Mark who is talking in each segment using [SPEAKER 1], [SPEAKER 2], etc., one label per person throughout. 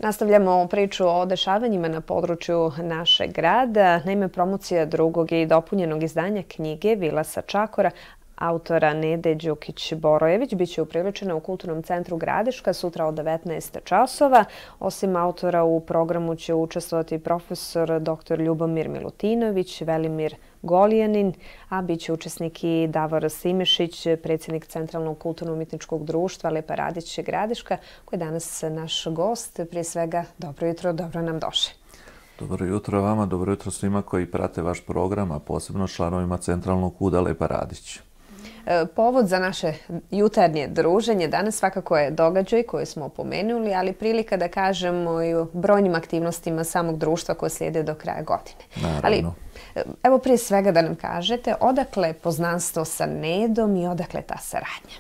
[SPEAKER 1] Nastavljamo priču o dešavanjima na području našeg grada. Naime, promocija drugog i dopunjenog izdanja knjige Vila sa Čakora autora Nede Đukić-Borojević biće upriličena u Kulturnom centru Gradiška sutra od 19 časova. Osim autora u programu će učestvovati profesor dr. Ljubomir Milutinović, Velimir Goljanin, a bit će učesnik i Davor Simešić, predsjednik Centralnog kulturno-umjetničkog društva Lepa Radić Gradiška, koji je danas naš gost. Prije svega, dobro jutro, dobro nam došli.
[SPEAKER 2] Dobro jutro vama, dobro jutro svima koji prate vaš program, a posebno članovima Centralnog KUD-a Lepa Radić.
[SPEAKER 1] Povod za naše jutarnje druženje danas svakako je događaj koji smo pomenuli, ali prilika da kažemo i o brojnim aktivnostima samog društva koje slijede do kraja godine.
[SPEAKER 2] Naravno.
[SPEAKER 1] Ali evo prije svega da nam kažete odakle poznanstvo sa Nedom i odakle ta saradnja?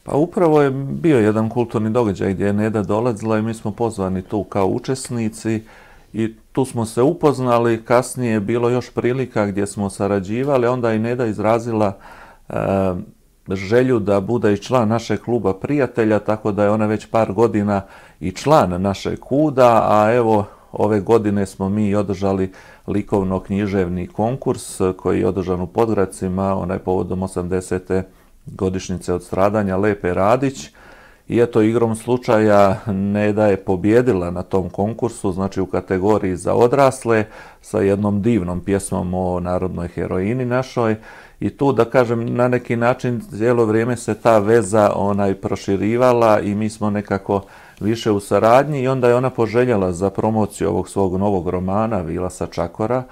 [SPEAKER 2] Pa upravo je bio jedan kulturni događaj gdje je Neda dolazila i mi smo pozvani tu kao učesnici i tu smo se upoznali. Kasnije je bilo još prilika gdje smo sarađivali, onda i Neda izrazila želju da bude i član našeg kluba prijatelja, tako da je ona već par godina i član našeg KUD-a, a evo ove godine smo mi održali likovno-književni konkurs koji je održan u Podgradcima, onaj povodom 80. godišnjice od stradanja Lepe Radić. I eto, igrom slučaja Neda je pobjedila na tom konkursu, znači u kategoriji za odrasle, sa jednom divnom pjesmom o narodnoj heroini našoj. I tu, da kažem, na neki način cijelo vrijeme se ta veza proširivala i mi smo nekako više u saradnji i onda je ona poželjela za promociju ovog svog novog romana Vila sa Čakora,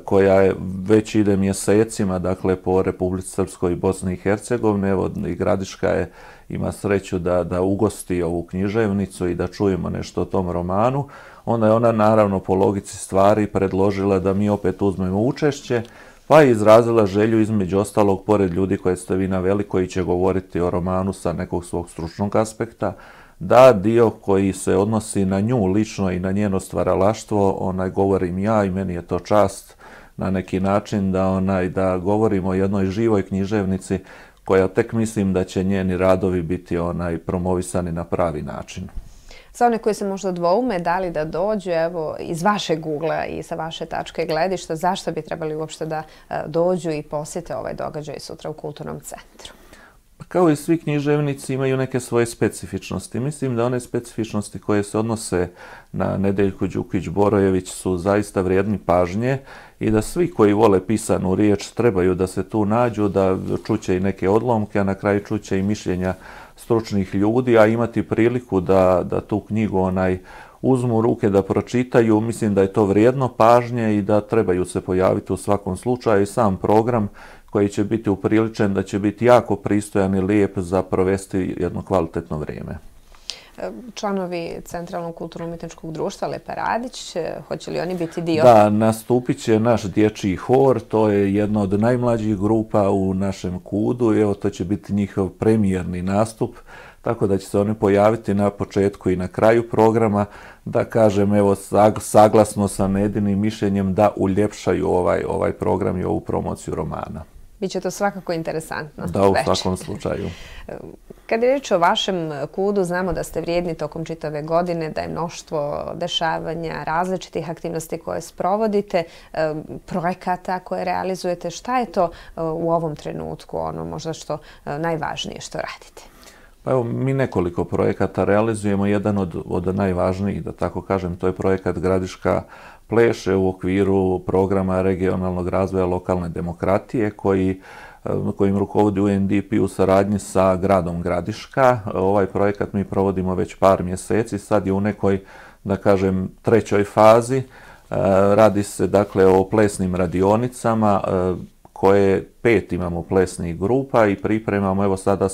[SPEAKER 2] koja je već ide mjesecima, dakle, po Republici Srpskoj i Bosni i Hercegovini. Evo, i Gradiška ima sreću da ugosti ovu književnicu i da čujemo nešto o tom romanu. Onda je ona, naravno, po logici stvari predložila da mi opet uzmemo učešće, pa je izrazila želju, između ostalog, pored ljudi koje ste vi naveli, koji će govoriti o romanu sa nekog svog stručnog aspekta, da dio koji se odnosi na nju lično i na njeno stvaralaštvo, govorim ja i meni je to čast na neki način da govorimo o jednoj živoj književnici koja tek mislim da će njeni radovi biti promovisani na pravi način.
[SPEAKER 1] Za one koji se možda dvoume da li da dođu, evo, iz vašeg ugla i sa vaše tačke gledišta, zašto bi trebali uopšte da dođu i posjete ovaj događaj sutra u Kulturnom centru?
[SPEAKER 2] Kao i svi književnici imaju neke svoje specifičnosti. Mislim da one specifičnosti koje se odnose na Nedeljku Đukić-Borojević su zaista vrijedni pažnje i da svi koji vole pisanu riječ trebaju da se tu nađu, da čuće i neke odlomke, a na kraju čuće i mišljenja stručnih ljudi, a imati priliku da tu knjigu uzmu u ruke, da pročitaju. Mislim da je to vrijedno pažnje i da trebaju se pojaviti u svakom slučaju. I sam program koji će biti upriličen da će biti jako pristojan i lijep za provesti jedno kvalitetno vrijeme.
[SPEAKER 1] Članovi Centralnog kulturno-umjetničkog društva Lepa Radić, hoće li oni biti dio?
[SPEAKER 2] Da, nastupit će naš dječji hor, to je jedna od najmlađih grupa u našem KUD-u i evo to će biti njihov premijerni nastup, tako da će se oni pojaviti na početku i na kraju programa, da kažem, evo, saglasno sa Nedinim mišljenjem da uljepšaju ovaj program i ovu promociju romana.
[SPEAKER 1] Biće to svakako interesantno.
[SPEAKER 2] Da, u svakom slučaju.
[SPEAKER 1] Kad je riječ o vašem KUD-u, znamo da ste vrijedni tokom čitave godine, da je mnoštvo dešavanja, različitih aktivnosti koje sprovodite, projekata koje realizujete. Šta je to u ovom trenutku ono možda što najvažnije što radite?
[SPEAKER 2] Pa evo, mi nekoliko projekata realizujemo. Jedan od najvažnijih, da tako kažem, to je projekat Gradiška pleše u okviru programa regionalnog razvoja lokalne demokratije kojim rukovodi UNDP u saradnji sa gradom Gradiška. Ovaj projekat mi provodimo već par mjeseci, sad je u nekoj, da kažem, trećoj fazi. Radi se dakle o plesnim radionicama koje 5 imamo plesnih grupa i pripremamo, evo sada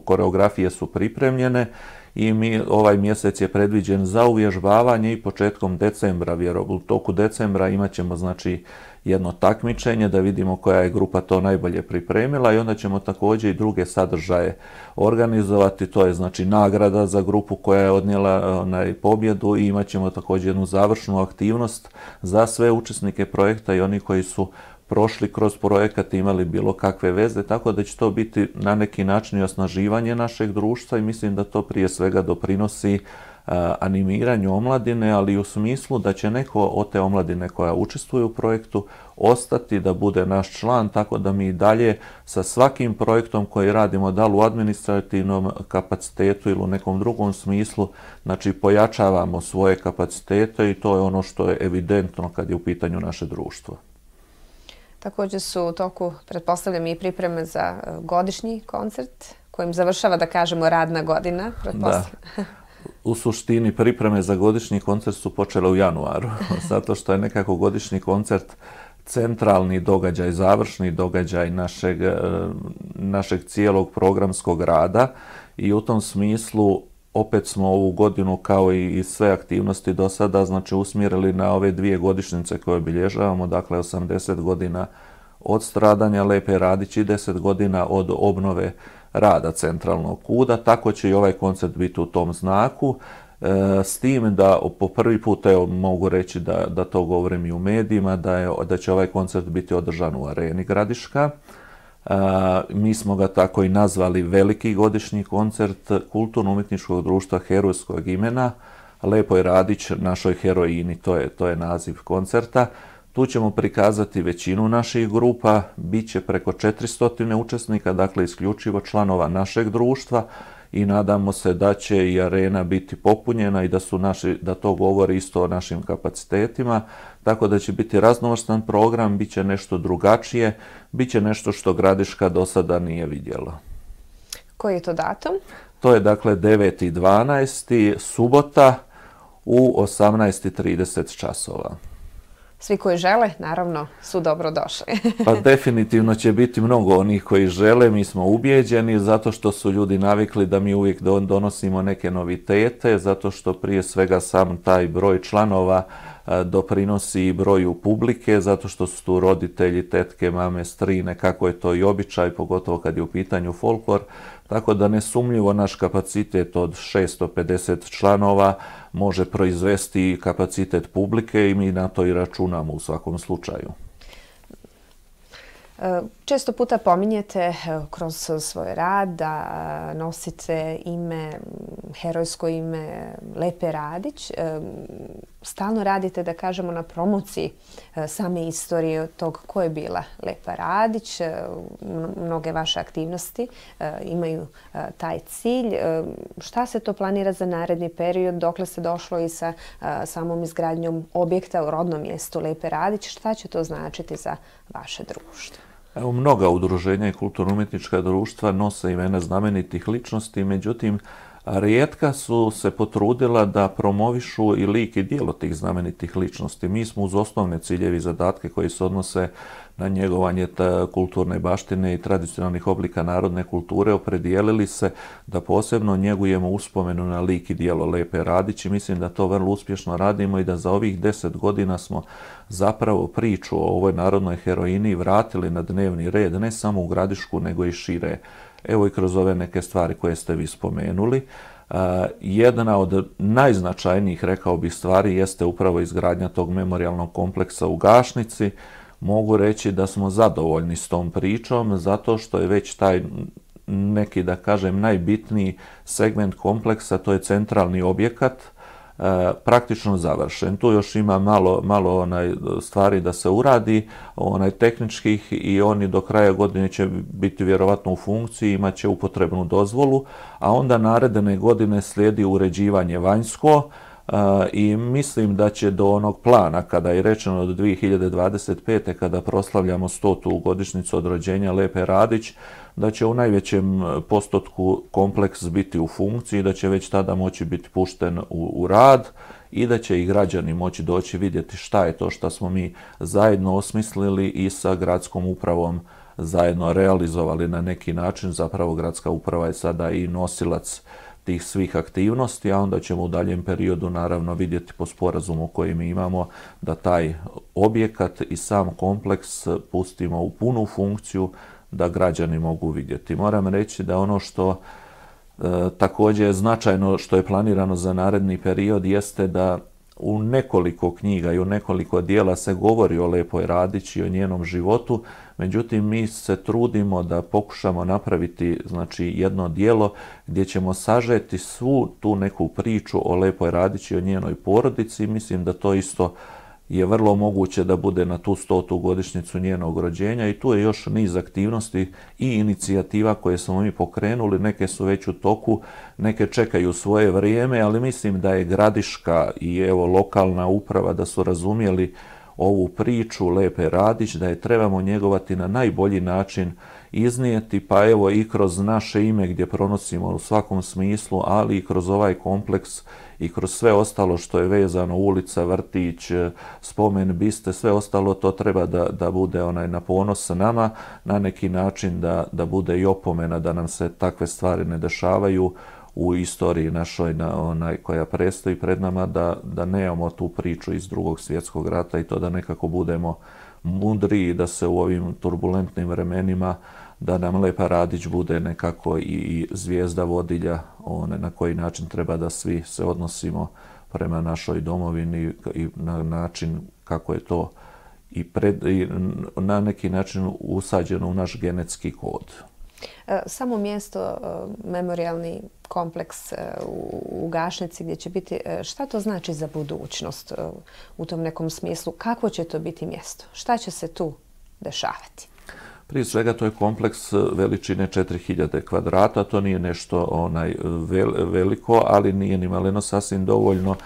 [SPEAKER 2] koreografije su pripremljene i ovaj mjesec je predviđen za uvježbavanje i početkom decembra, u toku decembra imat ćemo znači jedno takmičenje da vidimo koja je grupa to najbolje pripremila i onda ćemo također i druge sadržaje organizovati, to je znači nagrada za grupu koja je odnijela pobjedu i imat ćemo također jednu završnu aktivnost za sve učesnike projekta i oni koji su prošli kroz projekat i imali bilo kakve veze, tako da će to biti na neki način i osnaživanje našeg društva i mislim da to prije svega doprinosi animiranju omladine, ali i u smislu da će neko od te omladine koja učestvuje u projektu ostati da bude naš član, tako da mi i dalje sa svakim projektom koji radimo, da li u administrativnom kapacitetu ili u nekom drugom smislu, znači pojačavamo svoje kapacitete i to je ono što je evidentno kad je u pitanju naše društvo.
[SPEAKER 1] Također su u toku, pretpostavljam, i pripreme za godišnji koncert kojim završava, da kažemo, radna godina.
[SPEAKER 2] Da. U suštini pripreme za godišnji koncert su počele u januaru, zato što je nekako godišnji koncert centralni događaj, završni događaj našeg cijelog programskog rada i u tom smislu opet smo ovu godinu kao i sve aktivnosti do sada znači usmjerili na ove 2 godišnjice koje obilježavamo, dakle 80 godina od stradanja Lepe Radić i 10 godina od obnove rada Centralnog KUD-a, tako će i ovaj koncert biti u tom znaku, s tim da po prvi put evo, mogu reći da to govorim i u medijima, da će ovaj koncert biti održan u Areni Gradiška. Mi smo ga tako i nazvali veliki godišnji koncert Kulturno-umjetničkog društva herojskog imena Lepoj Radić, našoj heroini, to je naziv koncerta. Tu ćemo prikazati većinu naših grupa, bit će preko 400 učesnika, dakle isključivo članova našeg društva i nadamo se da će i arena biti popunjena i da to govori isto o našim kapacitetima, tako da će biti raznovrstan program, bit će nešto drugačije, bit će nešto što Gradiška do sada nije vidjela.
[SPEAKER 1] Koji je to datum?
[SPEAKER 2] To je dakle 9.12. subota u 18.30 časova.
[SPEAKER 1] Svi koji žele, naravno, su dobro došli.
[SPEAKER 2] Pa definitivno će biti mnogo onih koji žele, mi smo ubijeđeni, zato što su ljudi navikli da mi uvijek donosimo neke novitete, zato što prije svega sam taj broj članova doprinosi i broju publike, zato što su tu roditelji, tetke, mame, strine, kako je to i običaj, pogotovo kad je u pitanju folklor, tako da nesumnjivo naš kapacitet od 650 članova može proizvesti kapacitet publike i mi na to i računamo u svakom slučaju.
[SPEAKER 1] Često puta pominjete kroz svoj rad da nosite ime, herojsko ime Lepe Radić. Stalno radite, da kažemo, na promociji same istorije tog ko je bila Lepa Radić. Mnoge vaše aktivnosti imaju taj cilj. Šta se to planira za naredni period? Dokle se došlo i sa samom izgradnjom objekta u rodnom mjestu Lepe Radić? Šta će to značiti za vaše društvo?
[SPEAKER 2] Evo, mnoga udruženja i kulturno-umjetnička društva nose imena znamenitih ličnosti, međutim, rijetka su se potrudila da promovišu i lik i djelo tih znamenitih ličnosti. Mi smo uz osnovne ciljeve i zadatke koji se odnose na njegovanje kulturne baštine i tradicionalnih oblika narodne kulture opredijelili se da posebno njegujemo uspomenu na lik i djelo Lepe Radić i mislim da to vrlo uspješno radimo i da za ovih 10 godina smo zapravo priču o ovoj narodnoj heroini vratili na dnevni red, ne samo u Gradišku nego i šire. Evo i kroz ove neke stvari koje ste vi spomenuli. Jedna od najznačajnijih, rekao bih, stvari jeste upravo izgradnja tog memorijalnog kompleksa u Gašnici. Mogu reći da smo zadovoljni s tom pričom zato što je već taj neki, da kažem, najbitniji segment kompleksa, to je centralni objekat, praktično završen. Tu još ima malo stvari da se uradi, tehničkih, i oni do kraja godine će biti vjerovatno u funkciji, imat će upotrebnu dozvolu, a onda naredne godine slijedi uređivanje vanjsko i mislim da će do onog plana, kada je rečeno do 2025. kada proslavljamo 100. godišnjicu od rođenja Lepe Radić, da će u najvećem postotku kompleks biti u funkciji, da će već tada moći biti pušten u rad i da će i građani moći doći vidjeti šta je to što smo mi zajedno osmislili i sa gradskom upravom zajedno realizovali na neki način. Zapravo gradska uprava je sada i nosilac tih svih aktivnosti, a onda ćemo u daljem periodu naravno vidjeti po sporazumu koji mi imamo da taj objekat i sam kompleks pustimo u punu funkciju da građani mogu vidjeti. Moram reći da ono što također je značajno, što je planirano za naredni period, jeste da u nekoliko knjiga i u nekoliko dijela se govori o Lepoj Radić i o njenom životu, međutim mi se trudimo da pokušamo napraviti znači jedno djelo gdje ćemo sažeti svu tu neku priču o Lepoj Radić i o njenoj porodici. Mislim da to isto je vrlo moguće da bude na tu 100. godišnjicu njenog rođenja i tu je još niz aktivnosti i inicijativa koje smo mi pokrenuli, neke su već u toku, neke čekaju svoje vrijeme, ali mislim da je Gradiška i evo lokalna uprava da su razumjeli ovu priču Lepe Radić, da je trebamo njegovati na najbolji način iznijeti, pa evo i kroz naše ime gdje pronosimo u svakom smislu, ali i kroz ovaj kompleks i kroz sve ostalo što je vezano, ulica, vrtić, spomen biste, sve ostalo to treba da bude na ponos nama, na neki način da bude i opomena da nam se takve stvari ne dešavaju u istoriji našoj koja predstoji pred nama, da nemamo tu priču iz Drugog svjetskog rata i to da nekako budemo mudri, da se u ovim turbulentnim vremenima da nam Lepa Radić bude nekako i zvijezda vodilja na koji način treba da svi se odnosimo prema našoj domovini i na način kako je to i na neki način usađeno u naš genetski kod.
[SPEAKER 1] Samo mjesto, memorijalni kompleks u Gašnici gdje će biti, šta to znači za budućnost u tom nekom smislu? Kakvo će to biti mjesto? Šta će se tu dešavati?
[SPEAKER 2] Prije svega to je kompleks veličine 4000 kvadrata, to nije nešto veliko, ali nije ni maleno sasvim dovoljno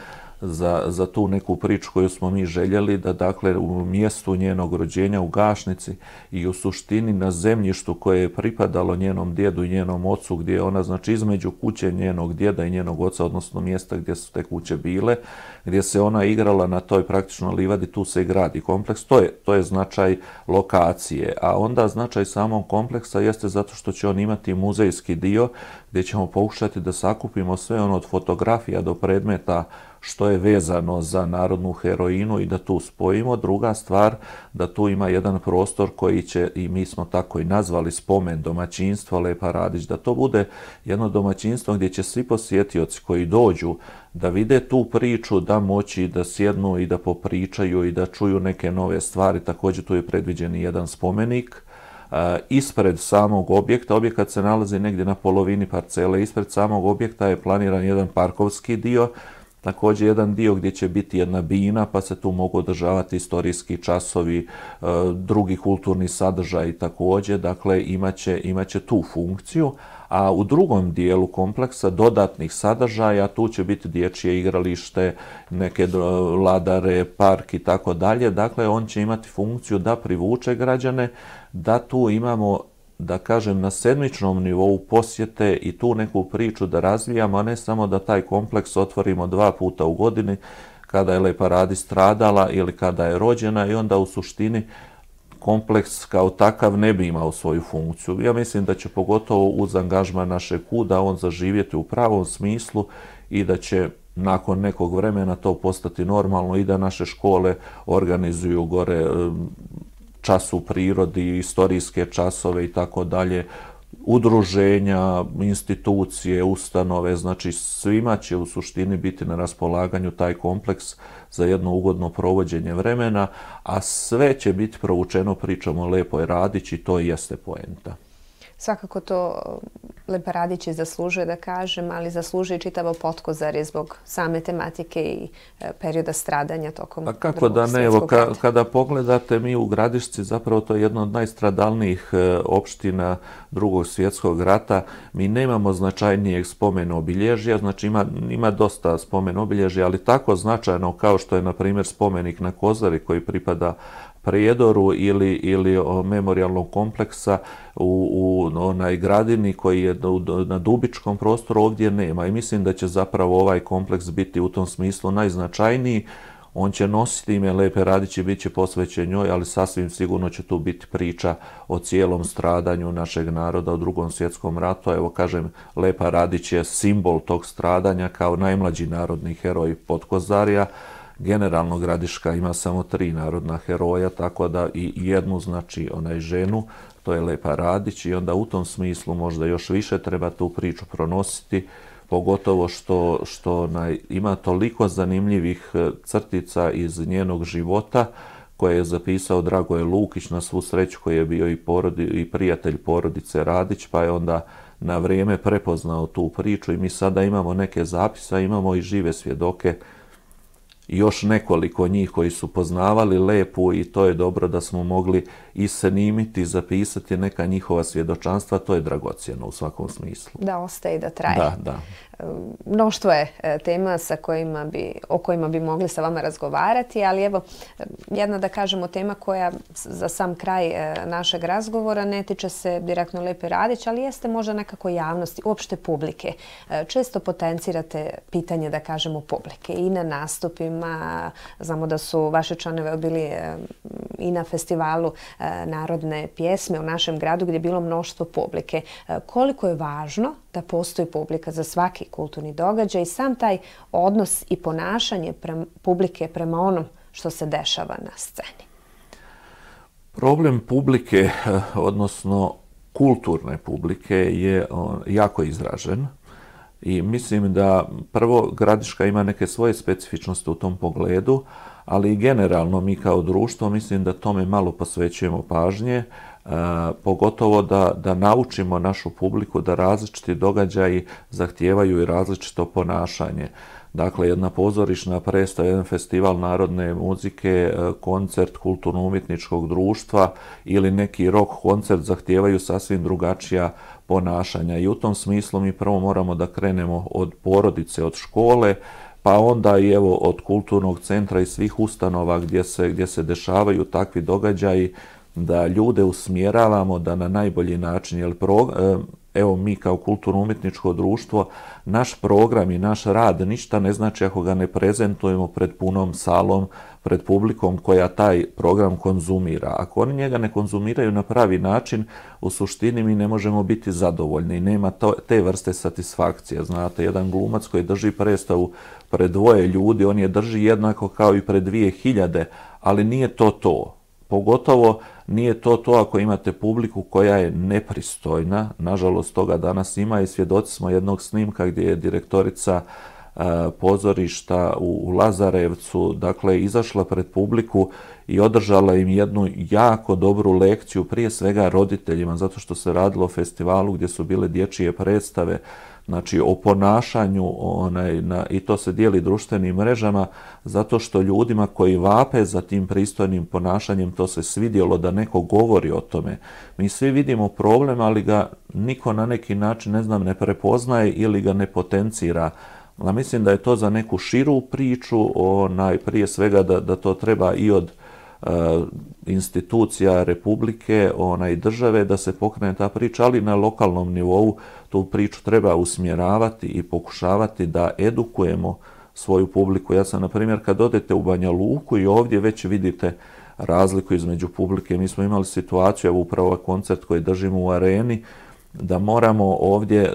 [SPEAKER 2] za tu neku priču koju smo mi željeli, da dakle u mjestu njenog rođenja u Gašnici i u suštini na zemljištu koje je pripadalo njenom djedu i njenom ocu, gdje je ona znači između kuće njenog djeda i njenog oca, odnosno mjesta gdje su te kuće bile, gdje se ona igrala na toj praktično livadi, tu se i gradi kompleks. To je značaj lokacije, a onda značaj samog kompleksa jeste zato što će on imati muzejski dio gdje ćemo pokušati da sakupimo sve ono od fotografija do predmeta što je vezano za narodnu heroinu i da tu spojimo. Druga stvar, da tu ima jedan prostor koji će, i mi smo tako i nazvali, spomen domaćinstva Lepa Radić, da to bude jedno domaćinstvo gdje će svi posjetioci koji dođu da vide tu priču, da moći da sjednu i da popričaju i da čuju neke nove stvari. Također tu je predviđen i jedan spomenik. Ispred samog objekta, objekat se nalazi negdje na polovini parcele, ispred samog objekta je planiran jedan parkovski dio, također jedan dio gdje će biti jedna bina, pa se tu mogu održavati istorijski časovi, drugi kulturni sadržaj također, dakle imaće tu funkciju. A u drugom dijelu kompleksa dodatnih sadržaja tu će biti dječje igralište, neke ladare, park i tako dalje. Dakle, on će imati funkciju da privuče građane, da tu imamo, da kažem, na sedmičnom nivou posjete i tu neku priču da razvijamo, a ne samo da taj kompleks otvorimo 2 puta u godini kada je Lepa Radić stradala ili kada je rođena i onda u suštini kompleks kao takav ne bi imao svoju funkciju. Ja mislim da će pogotovo uz angažman našeg KUD-a on zaživjeti u pravom smislu i da će nakon nekog vremena to postati normalno i da naše škole organizuju gore čas u prirodi, istorijske časove i tako dalje, udruženja, institucije, ustanove, znači svima će u suštini biti na raspolaganju taj kompleks za jedno ugodno provođenje vremena, a sve će biti provučeno pričom o Lepoj Radić i to jeste poenta.
[SPEAKER 1] Svakako to Lepa Radić zaslužuje, da kažem, ali zaslužuje i čitavo Potkozarje zbog same tematike i perioda stradanja tokom Drugog svjetskog rata.
[SPEAKER 2] Kako da ne, evo, kada pogledate, mi u Gradišci, zapravo to je jedna od najstradalnijih opština Drugog svjetskog rata, mi nemamo značajnijeg spomen obilježja, znači ima dosta spomen obilježja, ali tako značajno kao što je, na primjer, spomenik na Kozari koji pripada Prijedoru ili memorijalnog kompleksa u onaj Gradini koji je na Dubičkom prostoru, ovdje nema. I mislim da će zapravo ovaj kompleks biti u tom smislu najznačajniji. On će nositi ime Lepe Radić i bit će posvećen njoj, ali sasvim sigurno će tu biti priča o cijelom stradanju našeg naroda u Drugom svjetskom ratu. Evo, kažem, Lepa Radić je simbol tog stradanja kao najmlađi narodni heroj Potkozarja. Generalno Gradiška ima samo 3 narodna heroja, tako da i jednu, znači ženu, to je Lepa Radić, i onda u tom smislu možda još više treba tu priču pronositi pogotovo što ima toliko zanimljivih crtica iz njenog života koje je zapisao Dragoje Lukić, na svu sreću, koji je bio i prijatelj porodice Radić, pa je onda na vrijeme prepoznao tu priču i mi sada imamo neke zapise, imamo i žive svjedoke, još nekoliko njih koji su poznavali Lepu i to je dobro da smo mogli i snimiti, zapisati neka njihova svjedočanstva, to je dragocjeno u svakom smislu.
[SPEAKER 1] Da ostaje i da traje.
[SPEAKER 2] Da.
[SPEAKER 1] Mnoštvo je tema o kojima bi mogli sa vama razgovarati, ali evo jedna, da kažemo, tema koja za sam kraj našeg razgovora ne tiče se direktno Lepe Radić, ali jeste možda nekako javnosti, uopšte publike. Često potencirate pitanje, da kažemo, publike i na nastupima. Znamo da su vaše članove bili i na festivalu narodne pjesme u našem gradu gdje je bilo mnoštvo publike. Koliko je važno da postoji publika za svaki kulturni događaj i sam taj odnos i ponašanje publike prema onom što se dešava na sceni?
[SPEAKER 2] Problem publike, odnosno kulturne publike, je jako izražen i mislim da prvo Gradiška ima neke svoje specifičnosti u tom pogledu, ali i generalno mi kao društvo mislim da tome malo posvećujemo pažnje, pogotovo da naučimo našu publiku da različiti događaji zahtijevaju i različito ponašanje. Dakle, jedna pozorišna predstava, jedan festival narodne muzike, koncert kulturno-umjetničkog društva ili neki rock koncert zahtijevaju sasvim drugačija ponašanja. I u tom smislu mi prvo moramo da krenemo od porodice, od škole, pa onda i evo od kulturnog centra i svih ustanova gdje se dešavaju takvi događaji, da ljude usmjeravamo da na najbolji način, jer evo mi kao kulturno-umjetničko društvo, naš program i naš rad ništa ne znači ako ga ne prezentujemo pred punom salom, pred publikom koja taj program konzumira. Ako oni njega ne konzumiraju na pravi način, u suštini mi ne možemo biti zadovoljni. Nema te vrste satisfakcije. Znate, jedan glumac koji drži predstavu pred 2 ljudi, on je drži jednako kao i pred 2000, ali nije to. Pogotovo nije to ako imate publiku koja je nepristojna. Nažalost, toga danas ima i svjedoci smo jednog snimka gdje je direktorica pozorišta u Lazarevcu, dakle, izašla pred publiku i održala im jednu jako dobru lekciju, prije svega roditeljima, zato što se radilo o festivalu gdje su bile dječje predstave, znači o ponašanju, i to se dijeli društvenim mrežama, zato što ljudima koji vape za tim pristojnim ponašanjem to se svidjelo da neko govori o tome. Mi svi vidimo problem, ali ga niko na neki način, ne prepoznaje ili ga ne potencira. A mislim da je to za neku širu priču, prije svega da to treba i od institucija Republike i države da se pokrene ta priča, ali na lokalnom nivou tu priču treba usmjeravati i pokušavati da edukujemo svoju publiku. Ja sam, na primjer, kad odete u Banja Luku i ovdje već vidite razliku između publike. Mi smo imali situaciju, evo upravo koncert koji držimo u areni, da moramo ovdje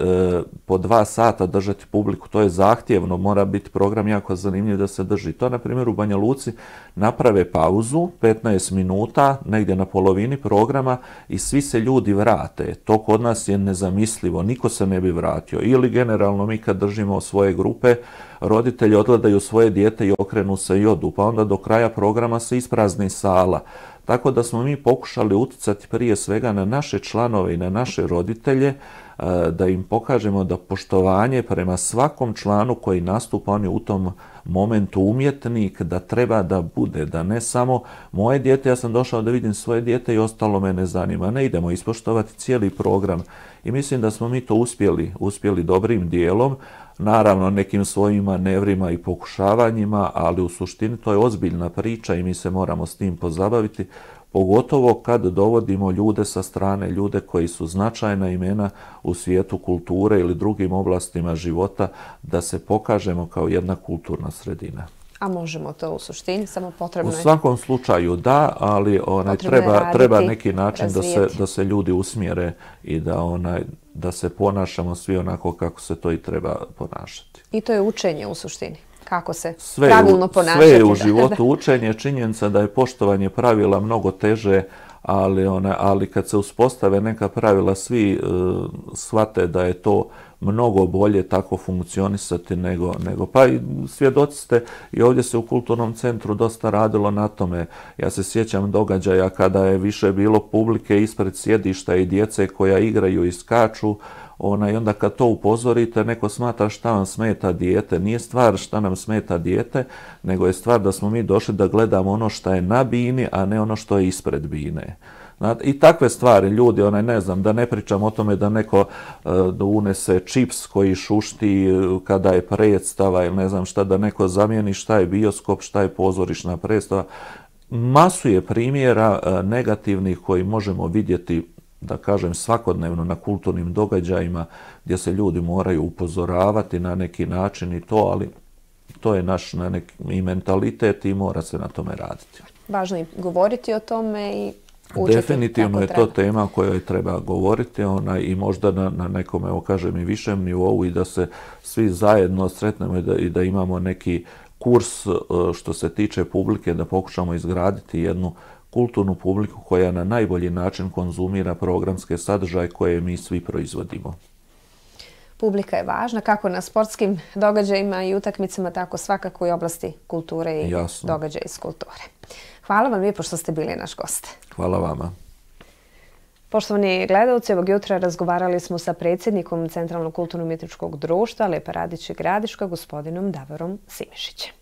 [SPEAKER 2] po 2 sata držati publiku, to je zahtjevno, mora biti program jako zanimljiv da se drži. To, na primjer, u Banja Luci naprave pauzu, 15 minuta, negdje na polovini programa i svi se ljudi vrate. To kod nas je nezamislivo, niko se ne bi vratio. Ili generalno mi kad držimo svoje grupe, roditelji odgledaju svoje dijete i okrenu se i odu, pa onda do kraja programa se isprazni sala. Tako da smo mi pokušali utjecati prije svega na naše članove i na naše roditelje, da im pokažemo da poštovanje prema svakom članu koji nastupa, on je u tom momentu umjetnik, da treba da bude, da ne samo moje dijete, ja sam došao da vidim svoje dijete i ostalo me ne zanima. Ne, idemo ispoštovati cijeli program. I mislim da smo mi to uspjeli dobrim dijelom, naravno nekim svojim manevrima i pokušavanjima, ali u suštini to je ozbiljna priča i mi se moramo s tim pozabaviti, pogotovo kad dovodimo ljude sa strane, ljude koji su značajna imena u svijetu kulture ili drugim oblastima života, da se pokažemo kao jedna kulturna sredina.
[SPEAKER 1] A možemo to u suštini, samo potrebno je...
[SPEAKER 2] U svakom slučaju da, ali treba neki način da se ljudi usmjere i da se ponašamo svi onako kako se to i treba ponašati.
[SPEAKER 1] I to je učenje u suštini. Kako se pravilno ponašati.
[SPEAKER 2] Sve je u životu učenje, činjenica da je poštovanje pravila mnogo teže, ali kad se uspostave neka pravila, svi shvate da je to mnogo bolje tako funkcionisati nego pa i svjedoci ste i ovdje se u kulturnom centru dosta radilo na tome. Ja se sjećam događaja kada je više bilo publike ispred sjedišta i djece koja igraju i skaču, i onda kad to upozorite, neko smatra šta vam smeta dijete. Nije stvar šta nam smeta dijete, nego je stvar da smo mi došli da gledamo ono što je na bini, a ne ono što je ispred bine. I takve stvari, ljudi, ne znam, da ne pričam o tome da neko unese čips koji šušti kada je predstava ili ne znam šta, da neko zamijeni šta je bioskop, šta je pozorišna predstava. Masu je primjera negativnih koji možemo vidjeti, da kažem, svakodnevno na kulturnim događajima gdje se ljudi moraju upozoravati na neki način i to, ali to je naš i mentalitet i mora se na tome raditi.
[SPEAKER 1] Važno je govoriti o tome i učiti.
[SPEAKER 2] Definitivno je to tema o kojoj treba govoriti i možda na nekom, evo kažem, i višem nivou i da se svi zajedno sretnemo i da imamo neki kurs što se tiče publike, da pokušamo izgraditi jednu kulturnu publiku koja na najbolji način konzumira programske sadržaje koje mi svi proizvodimo.
[SPEAKER 1] Publika je važna kako na sportskim događajima i utakmicama, tako svakako i oblasti kulture i događaja iz kulture. Hvala vam lijepo što ste bili naš gost.
[SPEAKER 2] Hvala vama.
[SPEAKER 1] Poštovani gledalci, ovog jutra razgovarali smo sa predsjednikom Centralnog kulturno-umjetničkog društva Lepa Radić i Gradiška, gospodinom Davorom Simišićem.